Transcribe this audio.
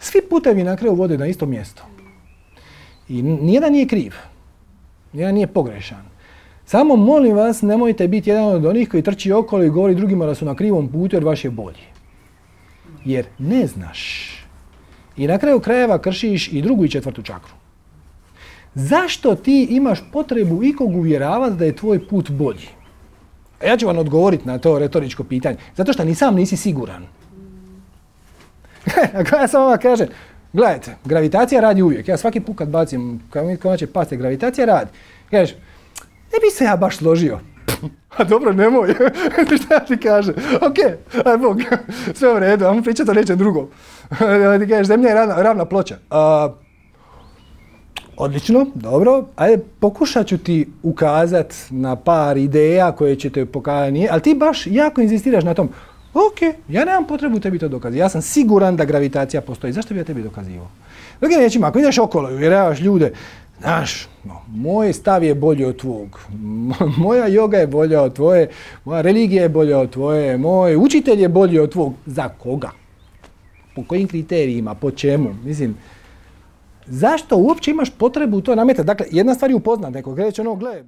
Svi putevi na kraju vode na isto mjesto. I nijedan nije kriv. Nijedan nije pogrešan. Samo molim vas, nemojte biti jedan od onih koji trči okolo i govori drugima da su na krivom putu jer vaš je bolji. Jer ne znaš. I na kraju krajeva kršiš i drugu i četvrtu čakru. Zašto ti imaš potrebu ikog uvjeravati da je tvoj put bolji? A ja ću vam odgovoriti na to retoričko pitanje. Zato što ni sam nisi siguran. Ako ja samo vam kažem, gledajte, gravitacija radi uvijek. Ja svaki put kad bacim, kad mi konače paste, gravitacija radi. Kažeš, ne bi se ja baš složio. A dobro, nemoj. Šta ja ti kažem? Ok, aj Bog, sve u redu, ajmo pričati o nečem drugom. Ti kažeš, zemlja je ravna ploča. Odlično, dobro. Ajde, pokušat ću ti ukazat na par ideja koje će te pokazati, ali ti baš jako inzistiraš na tom. Ok, ja nemam potrebu tebi to dokazati. Ja sam siguran da gravitacija postoji. Zašto bi ja tebi dokazivao? Drugim riječima, ako ideš okolo i uvjeravaš ljude, znaš, moj stav je bolji od tvog, moja joga je bolja od tvoje, moja religija je bolja od tvoje, moj učitelj je bolji od tvog. Za koga? Po kojim kriterijima? Po čemu? Mislim, zašto uopće imaš potrebu to nametati? Dakle, jedna stvar je upoznat nekog, reći ono, gle,